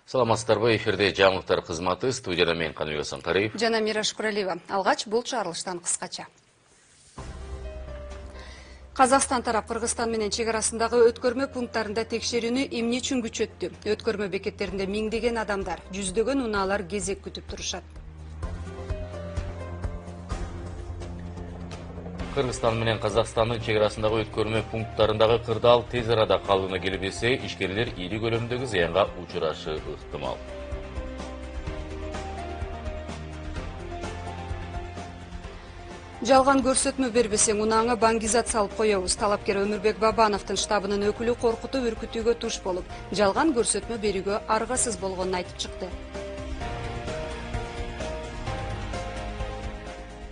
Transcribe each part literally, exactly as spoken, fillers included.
Саламатсыздарбы, эфирде жаңылыктар кызматы, студияда мен Каныбек Асанкариев жана Мираш Куралиева. Алгач бул чыгарылыштан кыскача. Казакстан тарап Кыргызстан менен чек арасындагы өткөрмө пункттарында текшерүүнү эмне үчүн күчөттү? Өткөрмө бекеттеринде миңдеген адамдар, жүздөгөн унаалар кезек күтүп турушат. Кыргызстан менен Казакстандын чек арасындагы өткөрмө пункттарындагы кырдаал тез арада калыбына келбесе, ишкерлер ири көлөмдөгү зыянга учурашы ыктымал. Жалган көрсөтмө бербесең, унааңа баңгизат салып коебуз. Талапкер Өмүрбек Бабановдун штабынын өкүлү коркутуп үркүтүүгө туш болуп, жалган көрсөтмө берүүгө аргасыз болгонун айтып чыкты.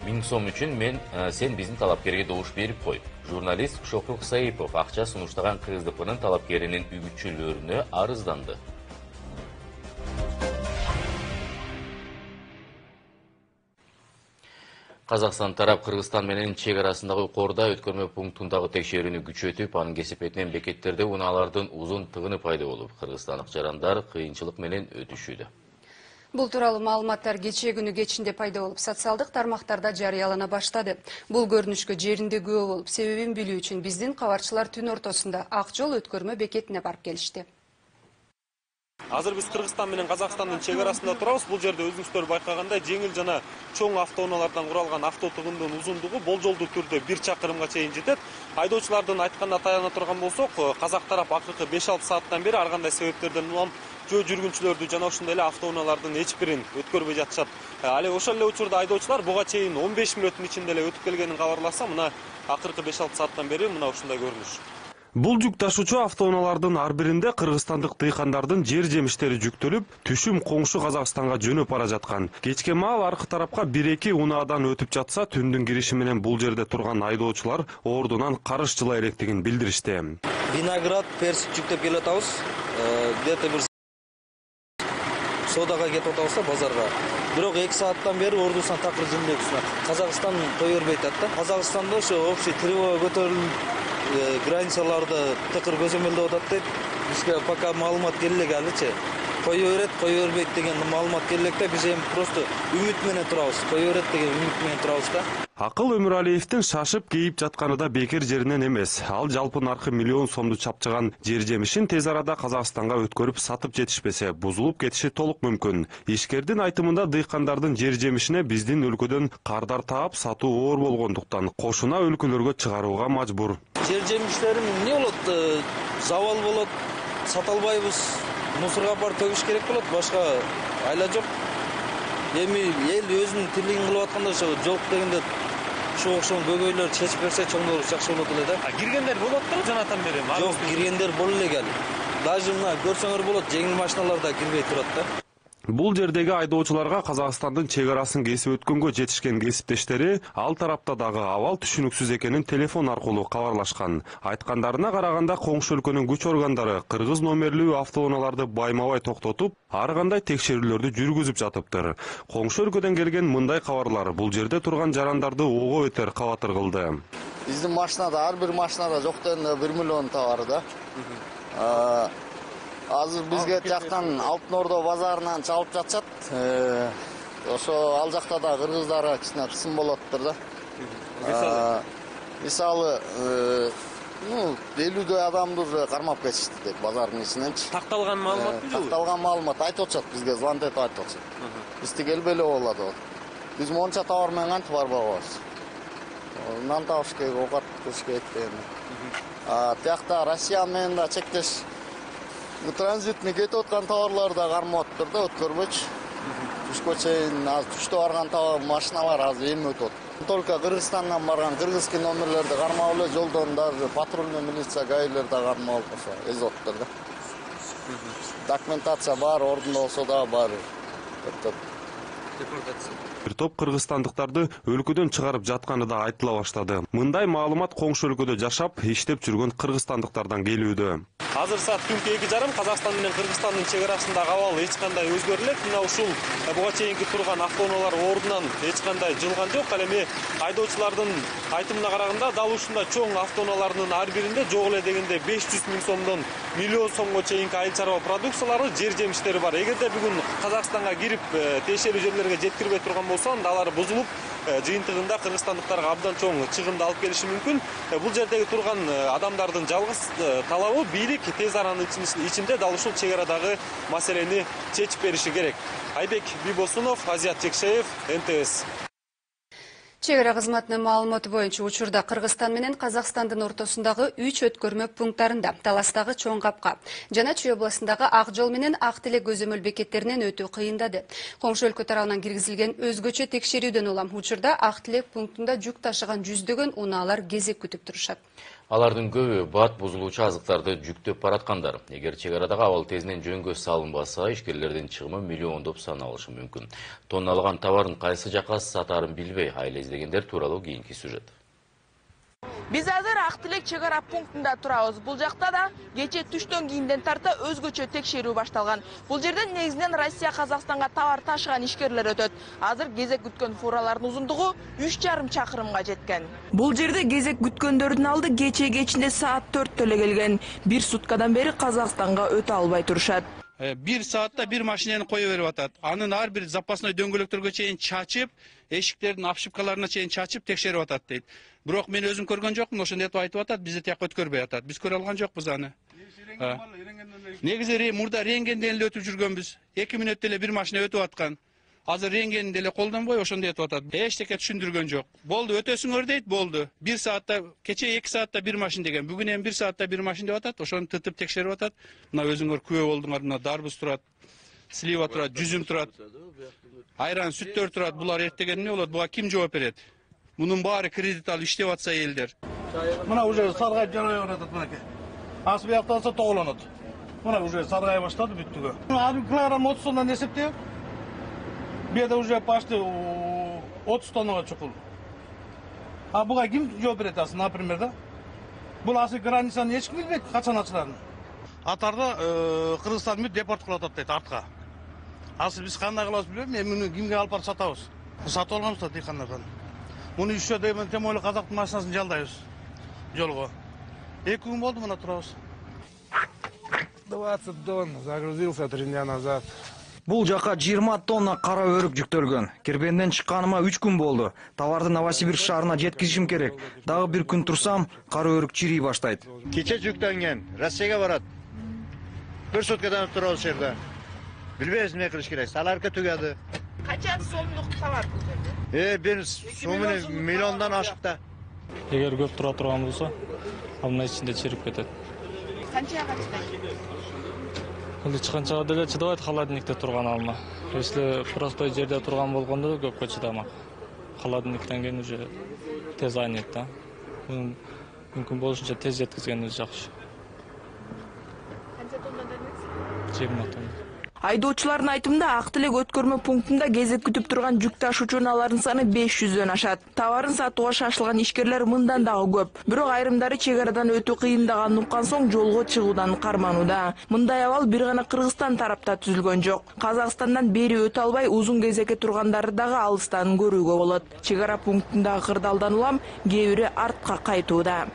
Миң сом үчүн мен сен биздин талапкерге добуш берип кой. Журналист Шокур Саипов акча сунуштаган КСДПнын талапкеринин үгүтчүлөрүнө арызданды. Казакстан тарап Кыргызстан менен чек арасындагы Корда өткөрмө пунктундагы текшерүүнү күчөтүп, анын кесепетинен бекеттерде унаалардын узун тыгыны пайда болуп, кыргызстандык жарандар кыйынчылык менен өтүшүүдө. Бул тууралуу маалыматтар кечээ күнү кечинде пайда болуп, социалдык тармактарда жарыялана баштады. Бул көрүнүшкө жеринде күбө болуп, себебин билүү үчүн биздин кабарчылар түн ортосунда Ак жол өткөрмө бекетине барып келишти. Азыр биз Кыргызстан менен Казакстандын чек арасында турабыз. Бул жерде өзүңүздөр байкагандай жеңил жана чоң автоунаалардан куралган авто тыгындын узундугу болжолдуу түрдө бир чакырымга чейин жетет. Айдоочулардын айтканына таяна турган болсок, Казак тарап акыркы беш алты сааттан бери ар кандай себептерден улам жөө жүргүнчүлөрдү жана ошондой эле автоунаалардын эч бирин өткөрбөй жатышат. Ал ошол эле учурда айдоочулар буга чейин он беш мүнөттүн ичинде эле өтүп келгенин кабарласа, мына акыркы беш алты сааттан бери мына ушундай көрүнүш. Бул жүк ташуучу автоунаалардын ар биринде кыргызстандык дыйкандардын жер жемиштери жүктөлүп, түшүм коңшу Казакстанга жөнөп бара жаткан. Кечке маал аркы тарапка бир эки унаадан өтүп жатса, түндүн кириши менен бул жерде турган айдоочулар ордунан карыш жыла электигин билдиришти. Виноград, персик жүктөп келе атабыз. Где-то бир содага кетип атабыз да базарга. Бирок эки сааттан бери ордусунан такыр жылдайбыз. Казакстан той бербейт да. Казакстанда ошо общий тревога көтөрүлүп, границаларды тыкыр көзөмөлдөп атат дейт. Бизге пока маалымат келе элек алычы. Кое берет, кое бербейт деген маалымат келе электе, биз эми просто үмүт менен турабыз. Кое берет деген үмүт менен турабыз да. Акыл Өмүралиевдин шашып кейип жатканы да бекер жеринен эмес. Ал жалпы наркы миллион сомду чапчыган жер жемишин тез арада Казакстанга өткөрүп сатып жетишпесе, бузулуп кетиши толук мүмкүн. Ишкердин айтымында дыйкандардын жер жемишине биздин өлкөдөн кардар таап сатуу оор болгондуктан кошуна өлкөлөргө чыгарууга мажбур. Жер жемиштерим эмне болот? Завал болот, сата албайбыз. Мусорго барып төгүш керек болот, башка айла жок. Эми эл өзүнүн тирлигин кылып атканда ошо жок дегенде ошо окшогон көйгөйлөрдү чечип берсе чоңдор жакшы болот эле да. А киргендер болоттур жанатан бери? Жок, киргендер боло элек. Даже мына көрсөңөр болот, жеңил машиналар да кирбей турат да. Бул жердеги айдоочуларга Казакстандын чек арасын кесип өткөнгө жетишкен кесиптештери ал тарапта дагы абал түшүнүксүз экенин телефон аркылуу кабарлашкан. Айткандарына караганда коңшу өлкөнүн күч органдары кыргыз номерлүү автоунааларды байма-бай токтотуп, ар кандай текшерүүлөрдү жүргүзүп жатыптыр. Коңшу өлкөдөн келген мындай кабарлар бул жерде турган жарандарды ого өтер кабатыр кылды. Биздин машинада, ар бир машинада жок дегенде бир миллион товар да. Азыр бизге жактан Алтын Ордо базарынан чалып жатышат. Ошо ал жакта да кыргыздар кичине кысым болоттур да. Мисалы, ну, элүүдөй адамды уже кармап кетишти деп базардын ичиненчи. Такталган маалымат белеби? Такталган маалымат айтып атышат, бизге звонок этип айтып атышат. Биз тигелбей эле болот деп. Биз монча товар менен кантип барбай коебуз? Нан табыш керек, оокат кылыш керек деген. А тиякта Россия менен да чектеш транзитный кетип аткан товарлар да кармап атыптыр да, өткөрбөйчү. Түшкө чейин азыр түштө барган товар машиналар азыр эми өтөт. Только Кыргызстандан барган кыргызский номерлерди кармап эле жолдон даже патрульный милиция, гаилер да кармап ошо эзоттур да. Документация бар, ордунда болсо да бар. Бир топ кыргызстандыктарды өлкөдөн чыгарып жатканы да айтыла баштады. Мындай маалымат коңшу өлкөдө жашап, иштеп жүргөн кыргызстандыктардан келүүдө. Азыр саат түнкү эки жарым Казакстан менен Кыргызстандын чек арасындагы абал эч кандай өзгөрү элек. Мына ушул буга чейинки турган автоунаалар ордунан эч кандай жылган жок. Ал эми айдоочулардын айтымына караганда дал ушундай чоң автоунаалардын ар биринде жок эле дегенде беш жүз миң сомдон миллион сомго чейинки айыл чарба продукциялары, жер жемиштери бар. Эгерде бүгүн Казакстанга кирип тиешелүү жерлерге жеткирбей турган болсо, анда алар бузулуп, жыйынтыгында кыргызстандыктарга абдан чоң чыгымды алып келиши мүмкүн. Бул жердеги турган адамдардын жалгыз талабы бийлик тез аранын ичинде дал ушул чек арадагы маселени чечип бериши керек. Айбек Бибосунов, Азият Жекшеев, эн тэ эс. Чек ара кызматынын маалыматы боюнча учурда Кыргызстан менен Казакстандын ортосундагы үч өткөрмө пункттарында Таластагы Чоң Капка жана Чүй областындагы Ак жол менен Ак Тилек көзөмөл бекеттеринен өтүү кыйындады. Коңшу өлкө тарабынан киргизилген өзгөчө текшерүүдөн улам учурда Ак Тилек пунктунда жүк ташыган жүздөгөн унаалар кезек күтүп турушат. Алардын көбү бат бузулуучу азыктарды жүктөп бараткандар. Эгер чек арадагы абал тезинен жөнгө салынбаса, ишкерлердин чыгымы миллиондоп саналышы мүмкүн. Тонналаган товарын кайсы жакка сатаарын билбей айла издегендер тууралуу кийинки сюжет. Биз азыр Ак Тилек чек ара пунктунда турабыз. Бул жакта да кече түштөн кийинден тарта өзгөчө текшерүү башталган. Бул жерден негизинен Россия Казакстанга товар ташыган ишкерлер өтөт. Азыр кезек күткөн фуралардын узундугу үч жарым чакырымга жеткен. Бул жерде кезек күткөндөрдүн алды кече кечинде саат төрттө эле келген. Бир суткадан бери Казакстанга өтө албай турушат. Бир саатта бир машинени кое берип атат. Анын ар бир запасной дөңгөлөктөргө чейин чачып, эшиктердин ошибкаларына чейин чачып текшерип атат дейт. Бирок мен өзүм көргөн жокмун, ошондой этип айтып атат, бизди тияка өткөрбөй атат. Биз көрө алган жокпуз аны. Негизи мурда рентгенден эле өтүп жүргөнбүз. эки мүнөттө эле бир машина өтүп аткан. Азыр рентгенди эле колдонбой ошондой этип атат. Эчтеке түшүндүргөн жок. Болду, өтөсүңөр дейт, болду. бир саатта, кече эки саатта бир машина деген. Бүгүн эми бир саатта бир машина деп атат. Ошону тытып текшерип атат. Мына өзүңөр күбө болдуңар. Мына дарбыз турат, слива турат, жүзүм турат, айран, сүттөр турат. Булар эртеген эмне болот? Буга ким жооп берет? Мунун баары кредит алып иштеп атса элдер. Мына уже саргайып жарабай баратат мынакей. Ас биякта алса тоголонот. Мына уже саргай баштады бүттүгө. Аны килограмм отуз тоннадан эсептеп. Бу жерде уже почти отуз тоннага чукул. А буга ким жооп берет асын, например, да? Бул асы границаны эч ким билбейт, качан ачыларын. Атарда Кыргызстан менен депорт кылып атат дейт артка. Асы биз кандай кылабыз билбейм, мен муну кимге алып барып сатабыз? Сатып алганбыз да дыйкандардан. Муну үчөө дейм, тем более казактын машинасын жалдайбыз жолго. эки күн болду мына турабыз. двадцать тонн загрузился три дня назад. Бул жака жыйырма тонна кара өрүк жүктөлгөн. Кирбенден чыкканыма үч күн болду. Товарды Новосибирск шаарына жеткизишим керек. Дагы бир күн турсам, кара өрүк чирий баштайт. Кече жүктөнгөн, Россияга барат. Бир суткадан турабыз жерде. Билбейбиз эмне кылыш керек. Саларка түгөдү. Кача сомдук товар бул жерде? Э, бир сомуну миллиондон ашыкта. Эгер көп тура турган болсо, амына ичинде чирип кетет. Канчага чыдайт? Эл чыкканчага деле чыдабайт холодильникте турган алма. Если простой жерде турган болгондо көпкө чыдамак. Холодильниктен кийин уже тез айнайт да. Мүмкүн болушунча тез жеткизгенибиз жакшы. Канча тонна дедиңиз? жыйырма тонна. Айдоочулардын айтымында Ак Тилек өткөрмө пунктунда кезек күтүп турган жүк ташуучу унаалардын саны беш жүздөн ашат. Товарын сатууга шашылган ишкерлер мындан дагы көп. Бирок айрымдары чек арадан өтүү кыйындаганын уккан соң жолго чыгуудан карманууда. Мындай абал бир гана Кыргызстан тарапта түзүлгөн жок. Казакстандан бери өтө албай узун кезекке тургандарды дагы алыстан көрүүгө болот. Чек ара пунктундагы кырдаалдан улам кээ бири артка кайтууда.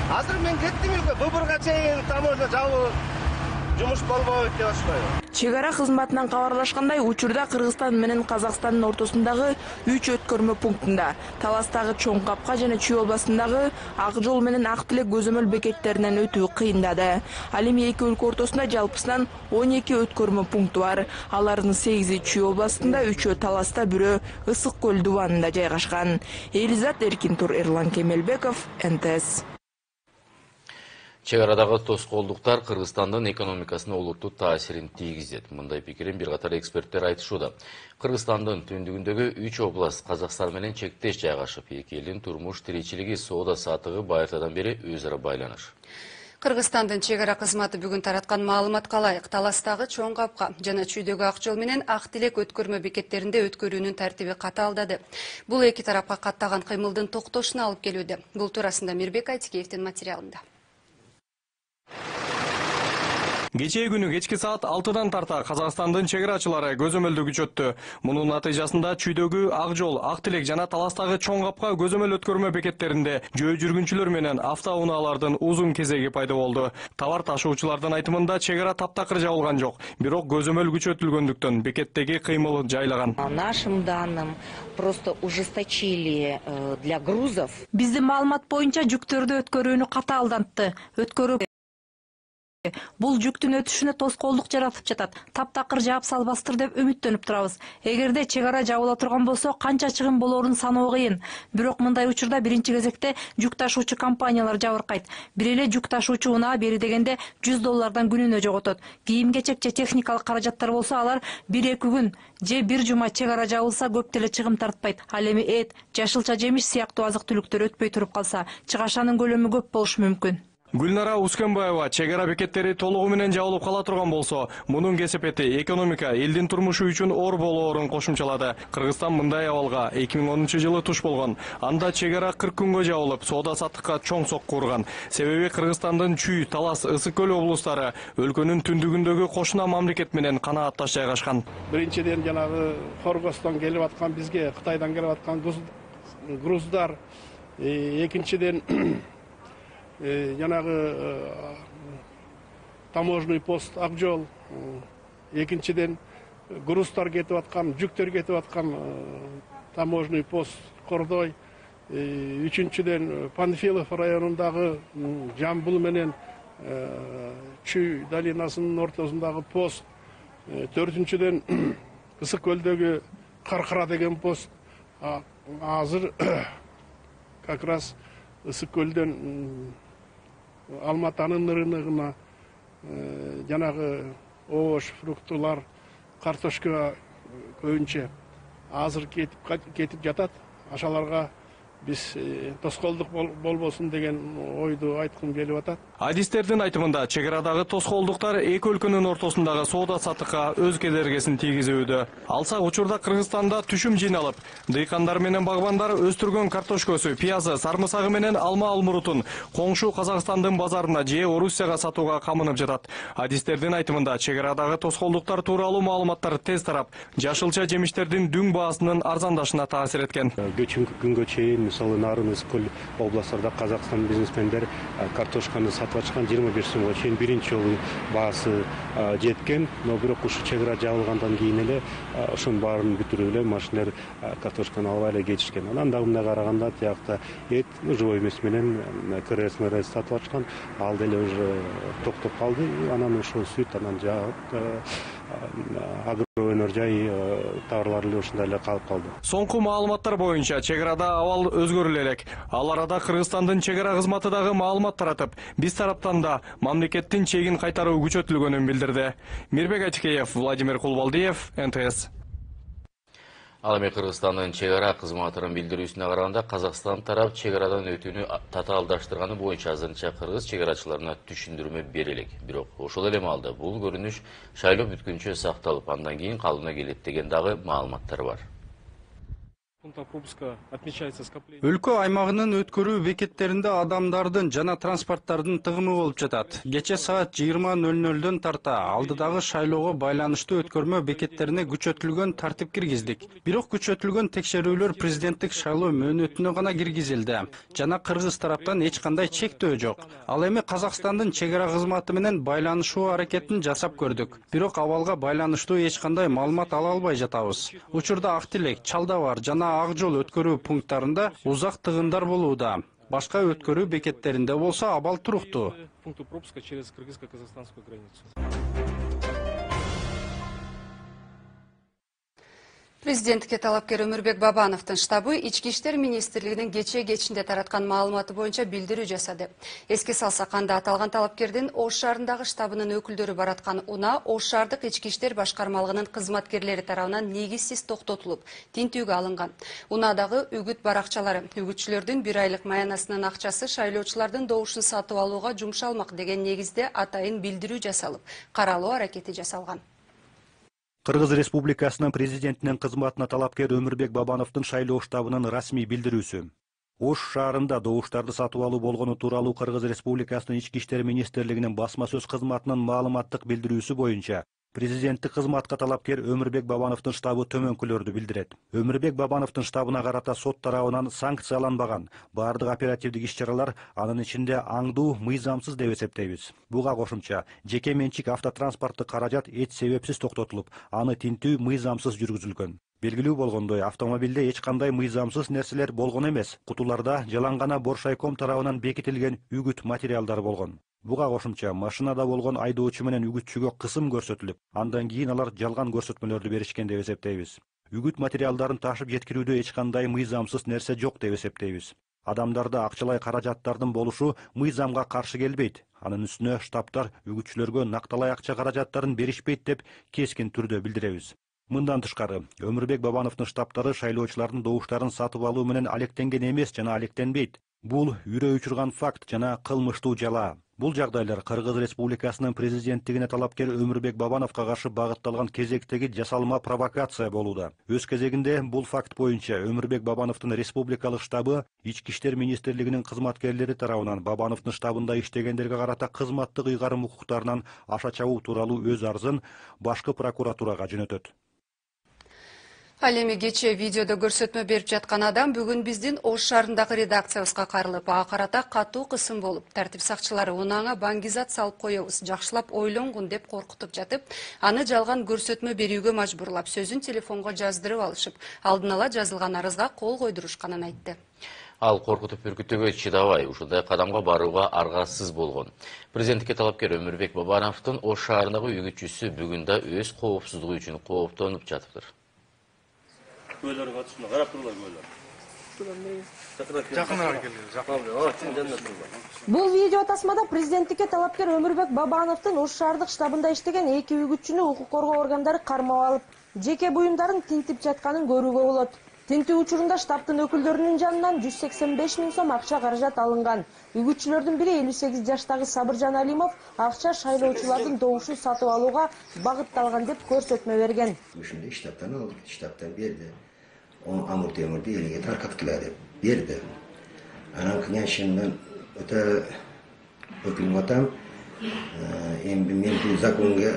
Азыр мен кеттим эле, Быбырга чейин таможня жабылып, жумуш болбойт деп атышпайбы? Чек ара кызматынан кабарлашкандай, учурда Кыргызстан менен Казакстандын ортосундагы үч өткөрмө пунктунда Таластагы Чоң Капка жана Чүй областындагы Ак жол менен Ак Тилек көзөмөл бекеттеринен өтүү кыйындады. Ал эми эки өлкө ортосунда жалпысынан он эки өткөрмө пункту бар. Алардын сегизи Чүй областында, үчөө Таласта, бирөө Ысык көл дубанында жайгашкан. Элизат Эркинтур, Эрлан Кемелбеков, эн тэ эс. Чек арадагы тоскоолдуктар Кыргызстандын экономикасына олуттуу таасирин тийгизет. Мындай пикирин бир катар эксперттер айтышууда. Кыргызстандын түндүгүндөгү үч област Казакстан менен чектеш жайгашып, эки элдин турмуш тиричилиги, соода саттыгы байыртадан бери өз ара байланыш. Кыргызстандын чек ара кызматы бүгүн тараткан маалыматка ылайык Таластагы Чоң Капка жана Чүйдөгү Ак жол менен Ак Тилек өткөрмө бекеттеринде өткөрүүнүн тартиби катаалдады. Бул эки тарапка каттаган кыймылдын токтошуна алып келүүдө. Бул туурасында Мирбек Айтикеевдин материалында. Кечээ күнү кечки саат алтыдан тарта Казакстандын чек арачылары көзөмөлдү күчөттү. Мунун натыйжасында Чүйдөгү Ак жол, Ак Тилек жана Таластагы Чоң Капка көзөмөл өткөрмө бекеттеринде жөө жүргүнчүлөр менен автоунаалардын узун кезеги пайда болду. Товар ташуучулардын айтымында чек ара таптакыр жабылган жок, бирок көзөмөл күчөтүлгөндүктөн бекеттеги кыймыл жайлаган. Нашим данным просто ужесточили для грузов. Биздин маалымат боюнча жүктөрдү өткөрүүнү катаалдантты. Өткөрүү бул жүктүн өтүшүнө тоскоолдук жаратып жатат. Таптакыр жаап салбастыр деп үмүттөнүп турабыз. Эгерде чек ара жабыла турган болсо, канча чыгым болоорун саноо кыйын. Бирок мындай учурда биринчи кезекте жүк ташуучу компаниялар жабыркайт. Бир эле жүк ташуучу унаа бери дегенде жүз доллардан күнүнө жоготот. Кийим-кечек же техникалык каражаттар болсо, алар бир-эки күн же бир жума чек ара жабылса көп деле чыгым тартпайт. Ал эми эт, жашылча жемиш сыяктуу азык-түлүктөр өтпөй туруп калса, чыгашанын көлөмү көп болушу мүмкүн. Гүлнара Ускенбаева чек ара бекеттери толугу менен жабылып кала турган болсо, мунун кесепети экономика, элдин турмушу үчүн оор болоорун кошумчалады. Кыргызстан мындай абалга эки миң онунчу жылы туш болгон. Анда чек ара кырк күнгө жабылып, соода саттыкка чоң сокку урган. Себеби Кыргызстандын Чүй, Талас, Ысык көл облустары өлкөнүн түндүгүндөгү кошуна мамлекет менен канаатташ жайгашкан. Биринчиден жанагы Хоргостон келип аткан бизге, Кытайдан келип аткан груздар, экинчиден жанагы таможенный пост Ак жол, экинчиден груздар кетип аткан, жүктөр кетип аткан таможенный пост Кордой, үчүнчүдөн Панфилов районундагы Жамбыл менен Чүй долинасынын ортосундагы пост, төртүнчүдөн Ысык көлдөгү Каркара деген пост. Азыр как раз Ысык көлдөн Алматанын рыногуна жанагы овощ, фруктулар, картошка көбүнчө азыр кетип жатат. Ашаларга биз тоскоолдук болбосун деген ойду айткым келип атат. Адистердин айтымында чек арадагы тоскоолдуктар эки өлкөнүн ортосундагы соода саттыкка өз кедергисин тийгизүүдө. Алса учурда Кыргызстанда түшүм жыйналып, дыйкандар менен багбандар өстүргөн картошкөсү, пиязы, сарымсагы менен алма алмурутун коңшу Казакстандын базарына же Орусияга сатууга камынып жатат. Адистердин айтымында чек арадагы тоскоолдуктар тууралуу маалыматтар тез тарап, жашылча жемиштердин дүң баасынын арзандашына таасир эткен. Көчүнкү күнгө чейин мисалы Нарын, Ысык көл областарда Казакстан бизнесмендер картошканы сатып ачкан жыйырма беш сомго чейин биринчи жолу баасы жеткен. Но бирок ушу чек ара жабылгандан кийин эле ошонун баарын бүтүрүп эле машиналар картошканы албай эле кетишкен. Анан дагы мындай караганда тиякта эт живой эмес менен КРС мрс сатып ачкан, ал деле уже токтоп калды. Анан ошол сүт, анан агро өнөр жай товарлар эле ушундай эле калып калды. Соңку маалыматтар боюнча чек арада абал өзгөрүлө элек. Ал арада Кыргызстандын чек ара кызматы дагы маалымат таратып, биз тараптан да мамлекеттин чегин кайтаруу күчөтүлгөнүн билдирди. Мирбек Айтикеев, Владимир Кулбалдиев, эн тэ эс. Ал эми Кыргызстандын чек ара кызматынын билдирүүсүнө караганда Казакстан тарап чек арадан өтүүнү татаалдаштырганы боюнча азырынча кыргыз чек арачыларына түшүндүрмө бере элек. Бирок ошол эле маалда бул көрүнүш шайлоо бүткүнчө сакталып, андан кийин калыбына келет деген дагы маалыматтар бар. Өлкө аймагынын өткөрүү бекеттеринде адамдардын жана транспорттардын тыгымы болуп жатат. Кече саат жыйырма нөл нөлдөн тарта алдыдагы шайлоого байланыштуу өткөрмө бекеттерине күчөтүлгөн тартип киргиздик. Бирок күчөтүлгөн текшерүүлөр президенттик шайлоо мөөнөтүнө гана киргизилди жана кыргыз тараптан эч кандай чектөө жок. Ал эми Казакстандын чек ара кызматы менен байланышуу аракетин жасап көрдүк. Бирок абалга байланыштуу эч кандай маалымат ала албай жатабыз. Учурда Ак Тилек, Чалдабар жана Ак жол өткөрүү пункттарында узак тыгындар болууда. Башка өткөрүү бекеттеринде болсо абал туруктуу. Президенттикке талапкер Өмүрбек Бабановдун штабы Ички иштер министрлигинин кечээ кечинде тараткан маалыматы боюнча билдирүү жасады. Эске салсак, анда аталган талапкердин Ош шаарындагы штабынын өкүлдөрү бараткан унаа Ош шаардык Ички иштер башкармалыгынын кызматкерлери тарабынан негизсиз токтотулуп, тинтүүгө алынган. Унаадагы үгүт баракчалары үгүтчүлөрдүн бир айлык маянасынын акчасы шайлоочулардын добушун сатып алууга жумшалмак деген негизде атайын билдирүү жасалып, каралуу аракети жасалган. Кыргыз Республикасынын президентинин кызматына талапкер Өмүрбек Бабановдун шайлоо штабынын расмий билдирүүсү. Ош шаарында добуштарды сатып алуу болгону тууралуу Кыргыз Республикасынын Ички иштер министрлигинин басма сөз кызматынын маалыматтык билдирүүсү боюнча президенттик кызматка талапкер Өмүрбек Бабановдун штабы төмөнкүлөрдү билдирет. Өмүрбек Бабановдун штабына карата сот тарабынан санкцияланбаган баардык оперативдик иш-чаралар, анын ичинде аңдуу, мыйзамсыз деп эсептейбиз. Буга кошумча, жеке менчик автотранспорттук каражат эч себепсиз токтотулуп, аны тинтүү мыйзамсыз жүргүзүлгөн. Белгилүү болгондой, автомобилде эч кандай мыйзамсыз нерселер болгон эмес. Кутуларда жалаң гана Боршайком тарабынан бекитилген үгүт материалдар болгон. Буга кошумча, машинада болгон айдоочу менен үгүтчүгө кысым көрсөтүлүп, андан кийин алар жалган көрсөтмөлөрдү беришкен деп эсептейбиз. Үгүт материалдарын ташып жеткирүүдө эч кандай мыйзамсыз нерсе жок деп эсептейбиз. Адамдарда акчалай каражаттардын болушу мыйзамга каршы келбейт. Анын үстүнө штабтар үгүтчүлөргө накталай акча каражаттарын беришпейт деп кескин түрдө билдиребиз. Мындан тышкары, Өмүрбек Бабановдун штабтары шайлоочулардын добуштарын сатып алуу менен алектенген эмес жана алектенбейт. Бул үрөө учурган факт жана кылмыштуу жала. Бул жагдайлар Кыргыз Республикасынын президенттигине талапкер Өмүрбек Бабановго каршы багытталган кезектеги жасалма провокация болууда. Өз кезегинде бул факт боюнча Өмүрбек Бабановдун республикалык штабы Ички иштер министрлигинин кызматкерлери тарабынан Бабановдун штабында иштегендерге карата кызматтык ыйгарым укуктарынан аша чабуу тууралуу өз арызын башкы прокуратурага жөнөтөт. Ал эми кечээ видеодо көрсөтмө берип жаткан адам бүгүн биздин Ош шаарындагы редакциябызга кайрылып, ага карата катуу кысым болуп, тартип сакчылары унааңа баңгизат салып коебуз, жакшылап ойлонгун деп коркутуп жатып, аны жалган көрсөтмө берүүгө мажбурлап, сөзүн телефонго жаздырып алышып, алдын ала жазылган арызга кол койдурушканын айтты. Ал коркутуп үркүтүүгө чыдабай, ушундай кадамга барууга аргасыз болгон. Президенттикке талапкер Өмүрбек Бабановдун Ош шаарындагы үгүтчүсү бүгүн да өз коопсуздугу үчүн кооптонуп жатыптыр. Көйлөргө катышында карап туруңар көйлөр. Жакыныраак келиңиз. Бул видео тасмада президенттикке талапкер Өмүрбек Бабановдун Ош шаардык штабында иштеген эки үгүтчүнү укук коргоо органдары кармап алып, жеке буюмдарын тинтип жатканын көрүүгө болот. Тинтүү учурунда штабтын өкүлдөрүнүн жанынан жүз сексен беш миң сом акча каражат алынган. Үгүтчүлөрдүн бири элүү сегиз жаштагы Сабыржан Алимов акча шайлоочулардын добушун сатып алууга багытталган деп көрсөтмө берген. Ушундай штабтан алып, штабтан берди. Он амур темурду элге таркаткыла деп берди. Анан кыянчынан өтө өкүлүп атам. Эми мен бул законго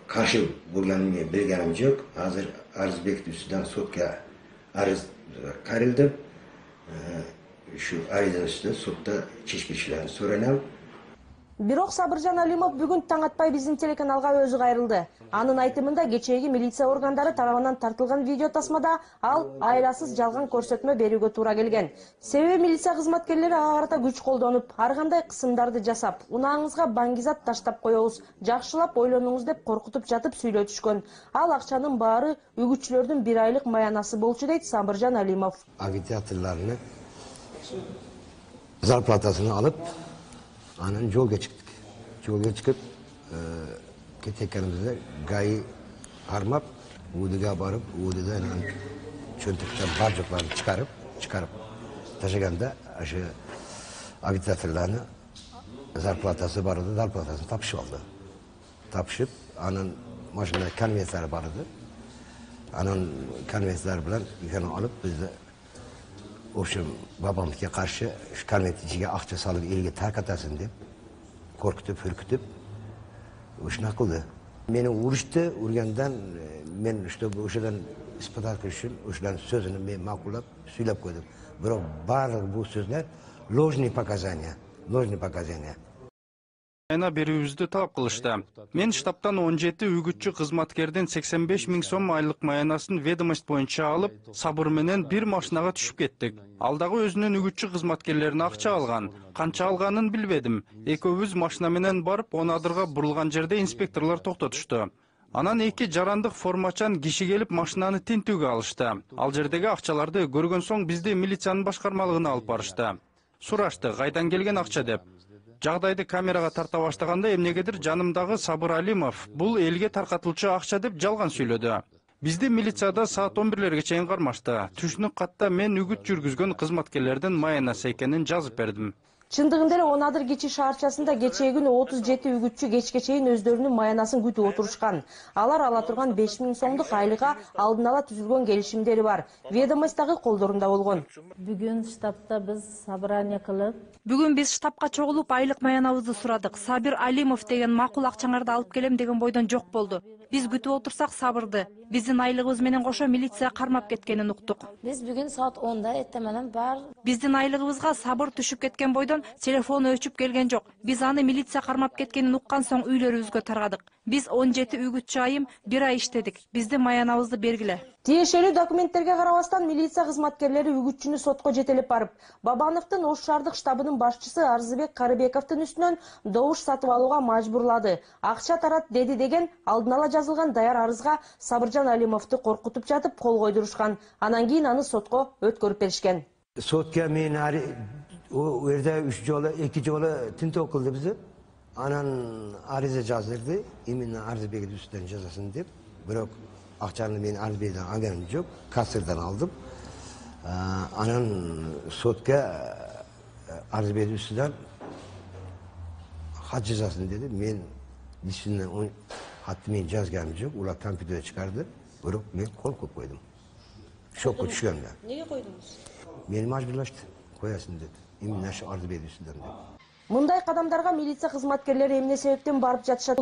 каршы болгонумду билгеним жок. Азыр арыз бекитип судан сотко арыз карылды. Şu arızın üstüne sudda çeşmişlerini soranam. Бирок Сабыржан Алимов бүгүн таң атпай биздин телеканалга өзү кайрылды. Анын айтымында кечээги милиция органдары тарабынан тартылган видео тасмада ал айрасыз жалган көрсөтмө берүүгө туура келген. Себеби милиция кызматкерлери ага карата күч колдонуп, ар кандай кысымдарды жасап, унааңызга баңгизат таштап коебуз, жакшылап ойлонуңуз деп коркутуп жатып сүйлөтүшкөн. Ал акчанын баары үгүтчүлөрдүн бир айлык маянасы болчу дейт Сабыржан Алимов. Агитаторларны зарплатасını alıp anın yolga çıktık. Yolga çıkıp e, ketekenimizde gayı harmap Uğdu'ya barıp Uğdu'da çöntükten barcıklarını çıkarıp çıkarıp taşıganda aşı agitatorlarını zarplatası vardı, zarplatasını tapışıp aldı. Tapışıp anın maşında konvensleri vardı. Anın konvensleri bilen yükünü alıp bizde Общем, babamdaki karşı şu konventiciye akça salıp elge tarkatasın deyip korkutup, hürkütüp uşuna kıldı. Beni uğraştı, urgandan ben işte bu uşadan ispat etmek için uşadan sözünü ben makullap, söylep koydum. Bırak barı bu sözler ложный показания, ложный показания. Айна берүүбүздү талап кылышты. Мен штабтан он жети үгүтчү кызматкердин сексен беш миң сом айлык маянасын ведомость боюнча алып, сабыр менен бир машинага түшүп кеттик. Ал дагы өзүнүн үгүтчү кызматкерлерине акча алган. Канча алганын билбедим. Экөөбүз машина менен барып, он адырга бурулган жерде инспекторлор токтотушту. Анан эки жарандык формачан киши келип машинаны тинтүүгө алышты. Ал жердеги акчаларды көргөн соң бизди милициянын башкармалыгына алып барышты. Сурашты, кайдан келген акча деп. Жагдайды камерага тарта баштаганда эмнегедир жанымдагы Сабыр Алимов бул элге таркатылчу акча деп жалган сүйлөдү. Бизди милицияда саат он бирлерге чейин кармашты. Түшүнүк катта мен үгүт жүргүзгөн кызматкерлердин маянасы экенин жазып бердим. Чындыгында эле он адыр кичи шаарчасында кечээ күнү отуз жети үгүтчү кечке чейин өздөрүнүн маянасын күтүп отурушкан. Алар ала турган беш миң сомдук айлыга алдын ала түзүлгөн келишимдери бар. Ведомость дагы колдорунда болгон. Бүгүн штабта биз собрание кылып, Бүгүн биз штабка чогулуп айлык маянабызды сурадык. Сабир Алимов деген макул акчаңарды алып келем деген бойдон жок болду. Биз күтүп отурсак Сабырды биздин айлыгыбыз менен кошо милиция кармап кеткенин уктук. биз бүгүн саат онда эртең бар Биздин айлыгыбызга Сабыр түшүп кеткен бойдон телефон өчүп келген жок. Биз аны милиция кармап кеткенин уккан соң үйлөрүбүзгө таргадык. Биз он жети үгүтчү айым бир ай иштедик. Биздин маянабызды бергиле. Тиешелүү документтерге карабастан милиция кызматкерлери үгүтчүнү сотко жетелеп барып, Бабановдун Ош шаардык штабынын башчысы Арзыбек Карыбековдун үстүнөн добуш сатып алууга мажбурлады. Акча тарат деди деген алдын ала жазылган даяр арызга Сабыржан Алимовду коркутуп жатып кол койдурушкан. Анан кийин аны сотко өткөрүп беришкен. Сотка мен o yerде üç жолу, эки жолу тинтөө кылды бизди. Анан арыза жаздырды, именно Арзыбек үстүнөн жазасын деп. Бирок акчаны мен Арзыбектен алганым жок, кассырдан алдым. Анан сотка Арзыбек үстүнөн хат жазасын dedi. Мен действительно хатты мен жазганым жок, улар компьютерде чыгарды. Бирок мен кол коюп койдум. Шокко түшкөндө. Неге койдуңуз? Мени мажбурлашты, коясың dedi. Именно ошо Арзыбек үстүнөн деп. Мындай кадамдарга милиция кызматкерлери эмне себептен барып жатышат?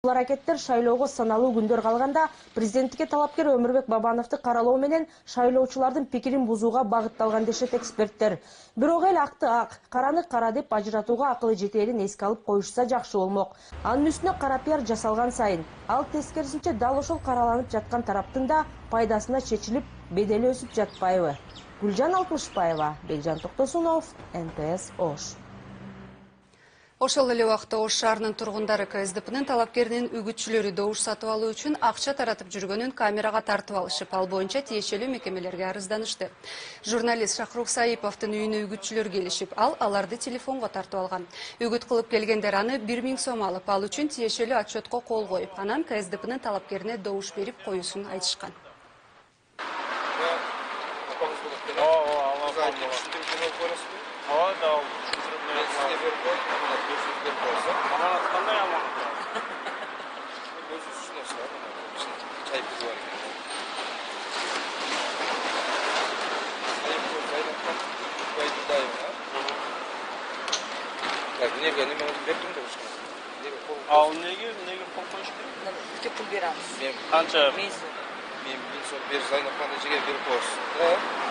Бул аракеттер шайлоого саналуу күндөр калганда президенттикке талапкер Өмүрбек Бабановду каралоо менен шайлоочулардын пикирин бузууга багытталган дешет эксперттер. Бирок эл акты ак, караны кара деп ажыратууга акылы жетээрин эске алып коюшса жакшы болмок. Анын үстүнө кара пиар жасалган сайын, ал тескерисинче дал ошол караланып жаткан тараптын да пайдасына чечилип, бедели өсүп жатпайбы? Гүлжан Алтмышбаева, Бекжан Токтосунов, эн тэ эс Ош. Ошол эле убакта Ош шаарынын тургундары ка эс дэ пэнин талапкеринин үгүтчүлөрү добуш сатып алуу үчүн акча таратып жүргөнүн камерага тартып алышып, ал боюнча тиешелүү мекемелерге арызданышты. Журналист Шахрух Саиповдун үйүнө үгүтчүлөр келишип, ал аларды телефонго тартып алган. Үгүт кылып келгендер аны бир миң сом алып, ал үчүн тиешелүү отчетко кол коюп, анан ка эс дэ пэнин талапкерине добуш берип коюусун айтышкан. Ал неге неге кол коюш керек? Бизге пул беребиз. Канча? миң сом. Мен миң сом бер зайнапкан эжеге берип коесуз.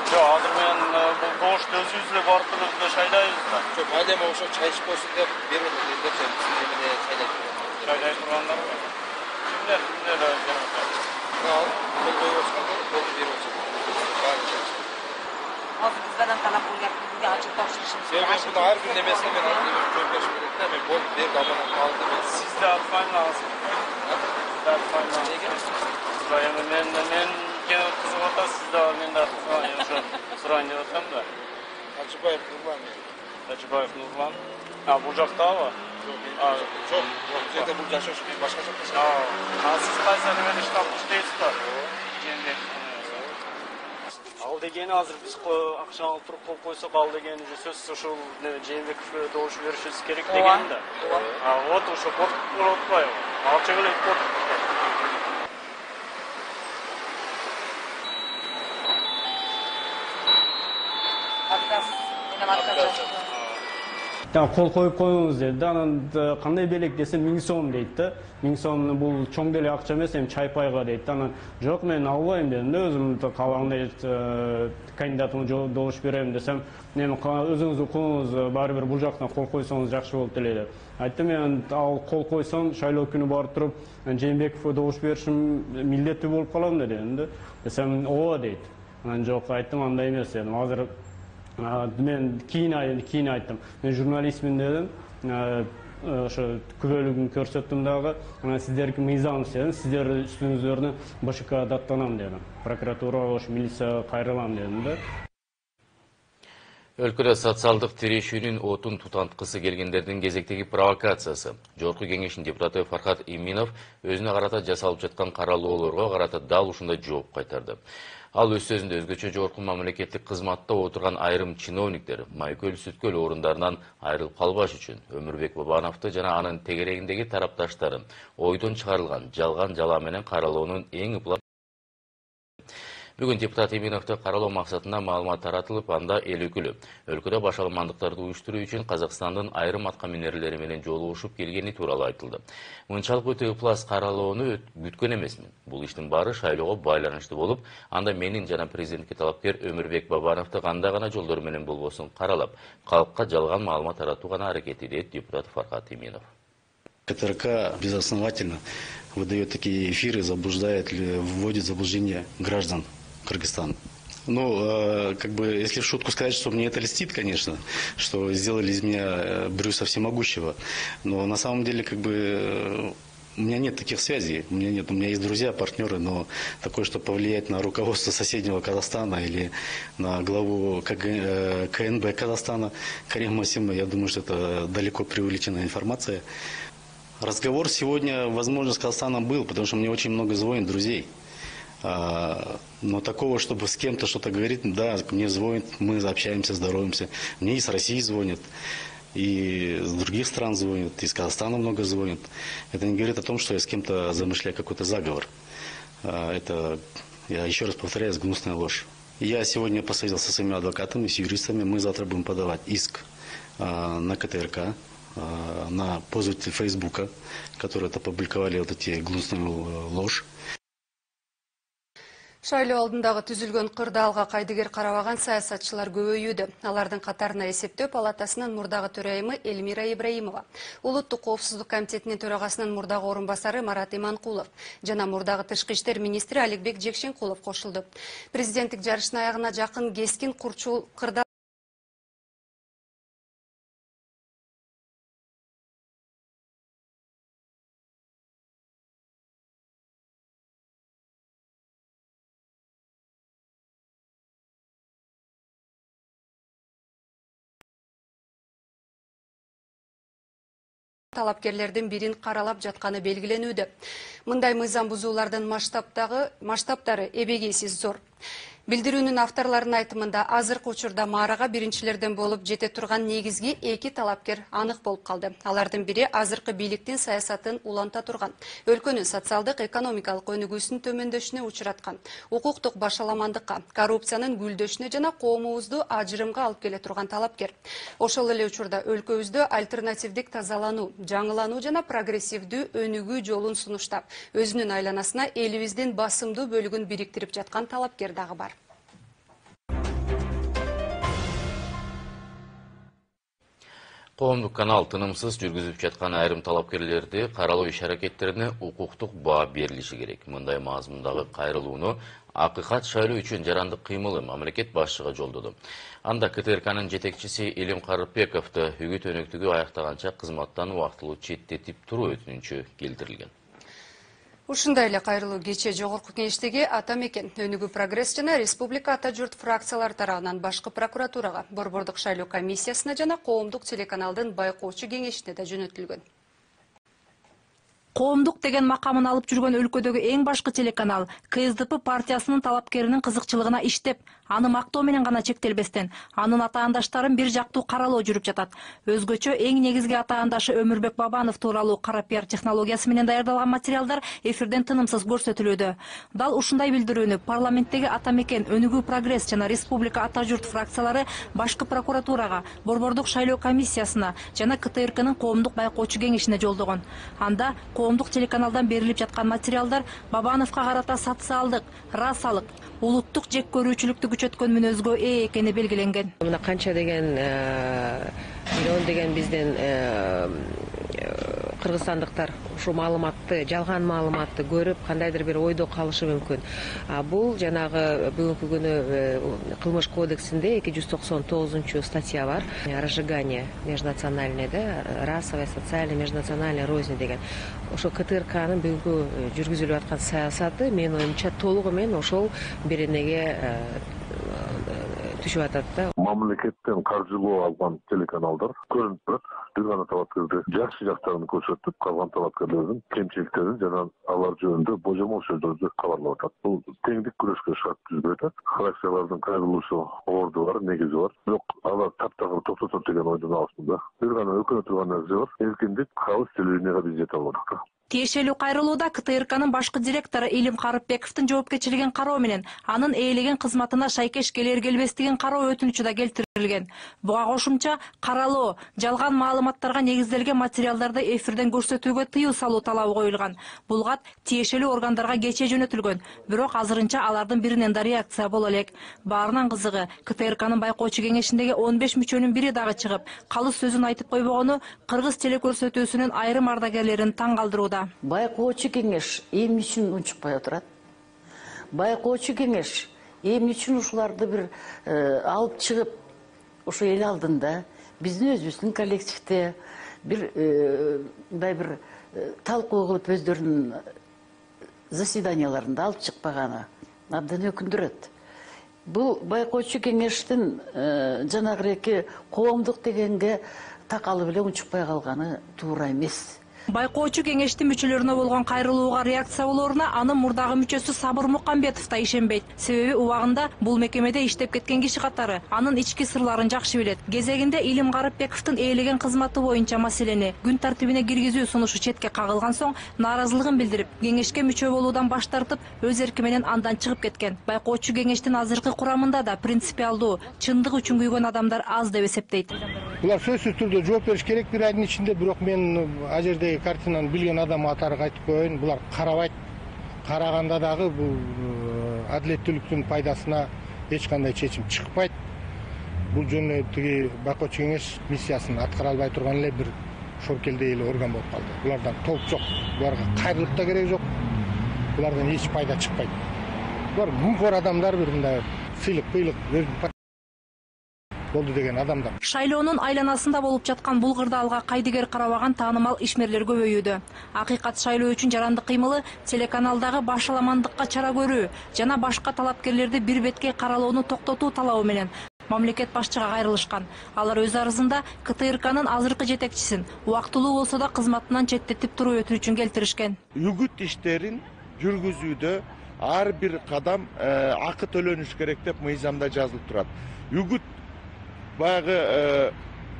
Жок, азыр мен бул добушты өзүбүз эле барып эле шайлайбыз да. Жок, майда эме ошо чай ичип койсун деп берип атат деп эмне чайлай турган. Чайлай тургандарбы? Кимдер, кимдер берип атат? Ал, кол коюп аткандар, колду берип атат. Азыр биздардан талап болгон бизге ачык тапшырышыбыз. Мен бул ар күн эмесине мен аны жооптошуп берет да, мен бол бер аманатты алдым. Сиз да атпайм аласыз. Сиз да атпайм. Неге? Эми мен мен кene кызык атат, сиз да мен да ошо сурайын деп атам да. Тажыбаев Нурлан. Тажыбаев Нурлан. А, бул жактабы? Жок, жок, бул жерде бул жашаш башка жакта. А, сиз кайсы эмеде штабта иштейсиз да? Жээнбек. Ал дегени азыр биз акча алып туруп кол койсок, ал дегени сөзсүз ушул Жээнбековго добуш беришибиз керек деген да. А вот ошо коркуп болуп атпайбы? Акча келет коркуп. Кол коюп коюңуз деди да, анан кандай белек десем миң сом дейт да. миң сом бул чоң деле акча эмес, эми чай пайга дейт да. Анан жок, мен албайм дедим да, өзүм каалагандай кандидатыма добуш берем десем, эми өзүңүз укуңуз, баары бир бул жактан кол койсоңуз жакшы болот эле деп. Айттым, мен ал кол койсом, шайлоо күнү барып туруп, Жээнбековго добуш беришим милдеттүү болуп калам дедим да. Десем, ооба дейт. Анан жок, айттым, андай эмес дедим. Азыр мен кийин кийин айттым. Мен журналистмин дедим. ошо күбөлүгүн көрсөттүм дагы. Анан сиздерки мыйзамсыз дедим, сиздер үстүңүздөрүнө БШК даттанам дедим. Прокуратурага ошо милицияга кайрылам дедим да. Өлкөдө социалдык тирешүүнүн отун тутанткысы келгендердин кезектеги провокациясы. Жогорку кеңештин депутаты Фархат Иминов өзүнө карата жасалып жаткан каралоолорго карата дал ушундай жооп кайтарды. Ал өз сөзүндө өзгөчө жогорку мамлекеттик кызматта отурган айрым чиновниктер майкөл-сүткөл орундарынан айрылып калбаш үчүн Өмүрбек Бабановду жана анын тегерегиндеги тарапташтарын ойдон чыгарылган жалган жала менен каралоонун эң ыплап. Бүгүн депутат Иминовду каралоо максатында маалымат таратылып, анда эл өкүлү өлкөдө башаламандыктарды уюштуруу үчүн Казакстандын айрым атка минерлери менен жолугушуп келгени тууралуу айтылды. Мынчалык өтө ыплас каралоону күткөн эмесмин. Бул иштин баары шайлоого байланыштуу болуп, анда менин жана президентке талапкер Өмүрбек Бабановду кандай гана жолдор менен болбосун каралап, калкка жалган маалымат таратуу гана аракети, дейт депутат Фархат Иминов. КТРК безосновательно выдает такие эфиры, заблуждает, вводит в заблуждение граждан Кыргызстана. Ну, как бы, если в шутку сказать, что мне это льстит, конечно, что сделали из меня Брюса Всемогущего, но на самом деле, как бы, у меня нет таких связей, у меня нет, у меня есть друзья, партнеры, но такое, что повлиять на руководство соседнего Казахстана или на главу КНБ Казахстана Карима Масима, я думаю, что это далеко преувеличенная информация. Разговор сегодня, возможно, с Казахстаном был, потому что мне очень много звонит друзей. Но такого, чтобы с кем-то что-то говорить, да, мне звонят, мы общаемся, здороваемся. Мне и с России звонят, и с других стран звонят, и из Казахстана много звонят. Это не говорит о том, что я с кем-то замышляю какой-то заговор. Это, я еще раз повторяю, гнусная ложь. Я сегодня посоветовался со своими адвокатами, с юристами. Мы завтра будем подавать иск на КТРК, на пользователей Фейсбука, которые это опубликовали, вот эти гнусную ложь. Шайлоо алдындагы түзүлгөн кырдаалга кайдыгер карабаган саясатчылар көбөйүүдө. Алардын катарына эсептөө палатасынын мурдагы төрайымы Эльмира Ибраимова, Улуттук коопсуздук комитетинин төрагасынын мурдагы орун басары Марат Иманкулов жана мурдагы тышкы иштер министри Аликбек Жекшенкулов кошулду. Президенттик жарыштын аягына жакын кескин курчул кырдаал талапкерлердин бирин каралап жатканы белгиленүүдө. Мындай мыйзам бузуулардын масштабтагы масштабтары эбегейсиз зор. Билдирүүнүн авторлорунун айтымында азыркы учурда маарага биринчилерден болуп жете турган негизги эки талапкер анык болуп калды. Алардын бири азыркы бийликтин саясатын уланта турган, өлкөнүн социалдык экономикалык өнүгүүсүнүн төмөндөшүнө учураткан, укуктук башаламандыкка, коррупциянын гүлдөшүнө жана коомубузду ажырымга алып келе турган талапкер. Ошол эле учурда өлкөбүздө альтернативдик тазалануу, жаңылануу жана прогрессивдүү өнүгүү жолун сунуштап, өзүнүн айланасына элибиздин басымдуу бөлүгүн бириктирип жаткан талапкер дагы бар. Коомдук канал тынымсыз жүргүзүп жаткан айрым талапкерлерди каралоо иш-аракеттерине укуктук баа берилиши керек. Мындай мазмундагы кайрылууну акыйкат шайлоо үчүн жарандык кыймылы мамлекет башчыга жолдоду. Анда КТРКнын жетекчиси Элим Карыпбековду үгүт өнөктүгү аяктаганча кызматтан убактылуу четтетип туруу өтүнүчү келтирилген. Ушундай эле кайрылуу кечээ жогорку кеңештеги Ата Мекен, Өнүгүү Прогресс жана Республика Ата Журт фракциялары тарабынан башкы прокуратурага, Борбордук шайлоо комиссиясына жана коомдук телеканалдын байкоочу кеңешине да жөнөтүлгөн. Коомдук деген макамын алып жүргөн өлкөдөгү эң башкы телеканал КСДП партиясынын талапкеринин кызыкчылыгына иштеп, аны мактоо менен гана чектелбестен, анын атаандаштарын бир жактуу каралоо жүрүп жатат. Өзгөчө эң негизги атаандашы Өмүрбек Бабанов тууралуу кара пиар технологиясы менен даярдалган материалдар эфирден тынымсыз көрсөтүлүүдө. Дал ушундай билдирүүнү парламенттеги Ата Мекен, Өнүгүү Прогресс жана Республика Ата Журт фракциялары башкы прокуратурага, Борбордук шайлоо комиссиясына жана КТРКнын коомдук байкоочу кеңешине жолдогон. Анда коомдук телеканалдан берилип жаткан материалдар Бабановго карата социалдык, расалык, улуттук жек көрүүчүлүктү күчөткөн мүнөзгө ээ экени белгиленген. Мына канча деген миллион деген биздин кыргызстандыктар ушул маалыматты, жалган маалыматты көрүп, кандайдыр бир ойдо калышы мүмкүн. Бул жанагы бүгүнкү күнү кылмыш кодексинде эки жүз токсон тогузунчу статья бар. Разжигание межнациональное, да, расовая, социальная, межнациональная рознь деген. Ошо КТРКнын бүгүнкү жүргүзүлүп аткан саясаты менин оюмча толугу менен ошол беренеге түшүп атат да. Мамлекеттен каржылоо алган телеканалдар көрүнүп турат. Бир гана талапкерди жакшы жактарын көрсөтүп, калган талапкерлердин кемчиликтерин жана алар жөнүндө божомол сөздөрдү кабарлап атат. Бул теңдик күрөшкө шарт түзбөйт. Фракциялардын кайрылуусу орду бар, негизи бар. Бирок алар таптагыр токтотот деген ойдун алысында. Бир гана өкүнө турган нерсе бар. Эркиндик кабыл телевиденияга биз жете албадык. Тиешелүү кайрылууда КТРКнын башкы директору Илим Карыпбековдун жоопкерчилигин кароо менен анын ээлеген кызматына шайкеш келер келбестигин кароо өтүнүчү да келтирилген. Буга кошумча каралоо, жалган маалыматтарга негизделген материалдарды эфирден көрсөтүүгө тыюу салуу талабы коюлган. Бул кат тиешелүү органдарга кечээ жөнөтүлгөн, бирок азырынча алардын биринен да реакция боло элек. Баарынан кызыгы, КТРКнын байкоочу кеңешиндеги он беш мүчөнүн бири дагы чыгып, калыс сөзүн айтып койбогону кыргыз телекөрсөтүүсүнүн айрым ардагерлерин таң калтырууда. Байкоочу кеңеш эмне үчүн унчукпай отурат? Байкоочу кеңеш эмне үчүн ушуларды бир алып чыгып, ошо эл алдында биздин өзүбүздүн коллективде бир мындай бир талкуу кылып өздөрүнүн заседанияларында алып чыкпаганы абдан өкүндүрөт. Бул байкоочу кеңештин жанагы коомдук дегенге такалып эле унчукпай калганы туура эмес. Байкоочу кеңештин мүчөлөрүнө болгон кайрылууга реакция болоруна анын мурдагы мүчөсү Сабыр Мукамбетов да ишенбейт. Себеби убагында бул мекемеде иштеп кеткен киши катары анын ички сырларын жакшы билет. Кезегинде Илим Карыпбековдун ээлеген кызматы боюнча маселени күн тартибине киргизүү сунушу четке кагылган соң нааразылыгын билдирип, кеңешке мүчө болуудан баш тартып, өз эрки менен андан чыгып кеткен. Байкоочу кеңештин азыркы курамында да принципиалдуу, чындык үчүн күйгөн адамдар аз деп эсептейт. Булар сөзсүз түрдө жооп бериш керек бир айдын ичинде, бирок мен ал жердеги картинаны билген адам катары айтып коеюн, булар карабайт. Караганда дагы бул адилеттүүлүктүн пайдасына эч кандай чечим чыкпайт. Бул жөнүндө тиги байкоочу кеңеш миссиясын аткара албай турган эле бир шоркелдей эле орган болуп калды. Булардан толк жок, буларга кайрылып да керек жок. Булардан эч пайда чыкпайт. Булар мүмкөр адамдар, бир мындай сыйлык, быйлык болду деген адамдар. Шайлоонун айланасында болуп жаткан бул кырдаалга кайдыгер карабаган таанымал ишмерлер көбөйүүдө. Акыйкат шайлоо үчүн жарандык кыймылы телеканалдагы башаламандыкка чара көрүү жана башка талапкерлерди бир бетке каралоону токтотуу талабы менен мамлекет башчыга кайрылышкан. Алар өз арызында КТРКнын азыркы жетекчисин убактылуу болсо да кызматынан четтетип туруу өтүнүчүн келтиришкен. Үгүт иштерин жүргүзүүдө ар бир кадам акы төлөнүш керек деп мыйзамда жазылып турат. Үгүт баягы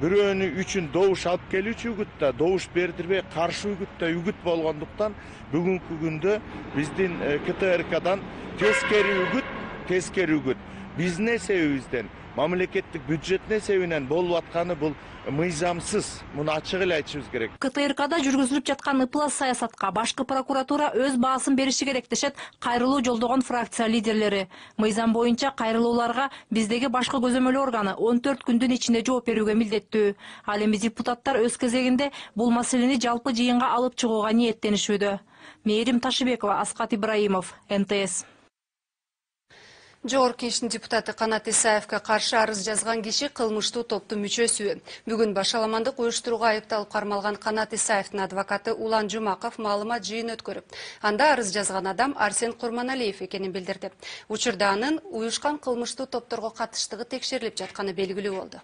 бирөөнү үчүн добуш алып келүүчү үгүт да, добуш бердирбей каршы үгүт да үгүт болгондуктан бүгүнкү күндө биздин КТРКдан тескери үгүт, тескери үгүт биздин эсебибизден, мамлекеттик бюджеттин эсебинен болуп атканы бул мыйзамсыз. Муну ачык эле айтышыбыз керек. КТРКда жүргүзүлүп жаткан ыплас саясатка башкы прокуратура өз баасын бериши керек дешет кайрылуу жолдогон фракция лидерлери. Мыйзам боюнча кайрылууларга биздеги башкы көзөмөл органы он төрт күндүн ичинде жооп берүүгө милдеттүү. Ал эми депутаттар өз кезегинде бул маселени жалпы жыйынга алып чыгууга ниеттенишүүдө. Мээрим Ташыбекова, Аскат Ибраимов, Н Т С. Жогорку Кеңештин депутаты Канат Исаевге каршы арыз жазган киши кылмыштуу топтун мүчөсү. Бүгүн башаламандык уюштурууга айыпталып кармалган Канат Исаевдин адвокаты Улан Жумаков маалымат жыйын өткөрүп, анда арыз жазган адам Арсен Курманалиев экенин билдирди. Учурда анын уюшкан кылмыштуу топторго катыштыгы текшерилип жатканы белгилүү болду.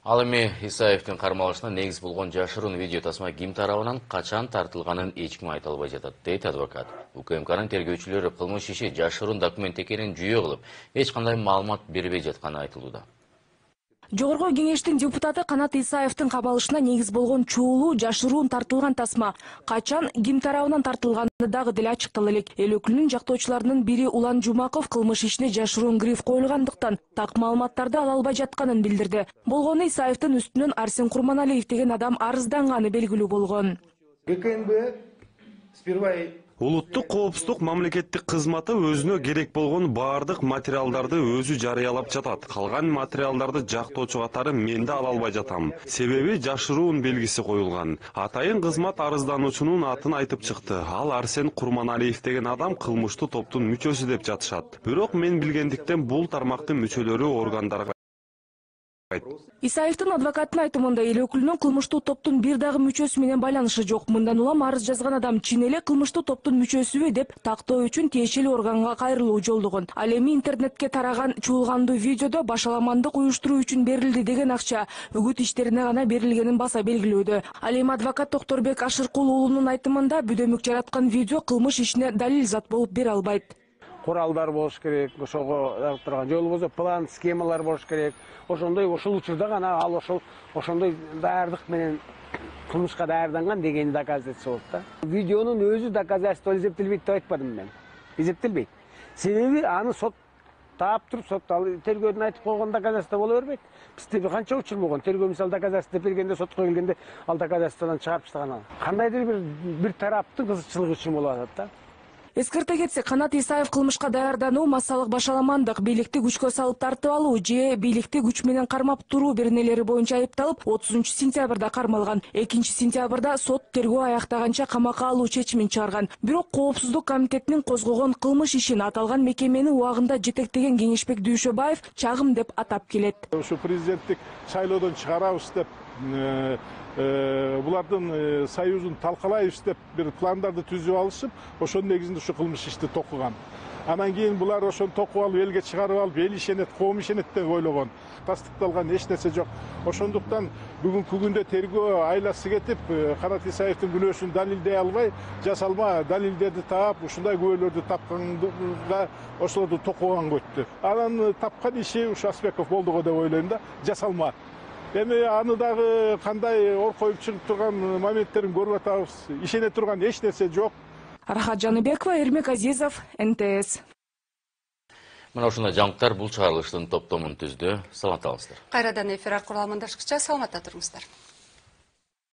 Ал эми Исаевдин кармалышына негиз болгон жашыруун видео тасма ким тарабынан качан тартылганын эч ким айта албай жатат, дейт адвокат. У К М Кнын тергөөчүлөрү кылмыш иши жашыруун документ экенин жүйө кылып, эч кандай маалымат бербей жатканы айтылууда. Жогорку Кеңештин депутаты Канат Исаевдин кабалышына негиз болгон чоолуу жашыруун тартылган тасма качан ким тарабынан тартылганы дагы деле ачыктала элек. Эл өкүлүнүн жактоочуларынын бири Улан Жумаков кылмыш ишине жашыруун гриф коюлгандыктан так маалыматтарды ала албай жатканын билдирди. Болгону Исаевдин үстүнөн Арсен Курманалиев деген адам арызданганы белгилүү болгон. Г К Н Б сперва Улуттук коопсуздук мамлекеттик кызматы өзүнө керек болгон баардык материалдарды өзү жарыялап жатат. Калган материалдарды жактоочу катары мен да ала албай жатам. Себеби жашыруун белгиси коюлган. Атайын кызмат арыздануучунун атын айтып чыкты. Ал Арсен Курманалиев деген адам кылмыштуу топтун мүчөсү деп жатышат. Бирок мен билгендиктен бул тармактын мүчөлөрү органдарга Исаевдин адвокатынын айтымында эл өкүлүнүн кылмыштуу топтун бир дагы мүчөсү менен байланышы жок. Мындан улам арыз жазган адам чын эле кылмыштуу топтун мүчөсүбү деп тактоо үчүн тиешелүү органга кайрылуу жолдогон. Ал эми интернетке тараган чуулгандуу видеодо башаламандык уюштуруу үчүн берилди деген акча үгүт иштерине гана берилгенин баса белгилөөдө. Ал эми адвокат Токторбек Ашыркул уулунун айтымында бүдөмүк жараткан видео кылмыш ишине далил зат болуп бере албайт. Куралдар болуш керек, ошого турган же болбосо план, схемалар болуш керек. Ошондой ошол учурда гана ал ошол ошондой даярдык менен кылмышка даярданган дегени доказательство болот да. Видеонун өзү доказательство эсептелбейт деп айтпадым мен. Эсептелбейт. Себеби аны сот таап туруп, сот ал тергөөдөн айтып койгон доказательство боло бербейт. Бизде канча учур болгон. Тергөө мисалы доказательство деп бергенде сотко келгенде ал доказательстводан чыгарып таштаган. Кандайдыр бир бир тараптын кызыкчылыгы үчүн болуп атат да. Эскерте кетсек, Канат Исаев кылмышка даярдануу, массалык башаламандык, бийликти күчкө салып тартып алуу же бийликти күч менен кармап туруу беренелери боюнча айыпталып, отузунчу сентябрда кармалган. экинчи сентябрда сот тергөө аяктаганча камакка алуу чечимин чыгарган. Бирок Коопсуздук комитетинин козгогон кылмыш ишин аталган мекемени убагында жетектеген Кеңешбек Дүйшөбаев чагым деп атап келет. Ушу президенттик шайлоодон чыгарабыз деп булардын союзун талкалайбыз деп бир пландарды түзүп алышып, ошонун негизинде ушу кылмыш ишти токуган. Анан кийин булар ошону токуп алып, элге чыгарып алып, эл ишенет, коом ишенет деп ойлогон. Тастыкталган эч нерсе жок. Ошондуктан бүгүнкү күндө тергөө айласы кетип, Канат Исаевдин күнөөсүн далилдей албай, жасалма далилдерди таап, ушундай күбөлөрдү тапканга ошолорду токуган көттү. Анан тапкан иши ушу Аспеков болду деп ойлойм да, жасалма. Эми аны дагы кандай ор коюп чыгып турган моменттерин көрүп атабыз. Ишене турган эч нерсе жок. Рахат Жаныбекова, Эрмек Азизов, эн тэ эс. Мына ушундай жаңылыктар бул чыгарылыштын топтомун түздү. Саламат болуңуздар. Кайрадан эфир аркылуу амандашкыча саламатта туруңуздар.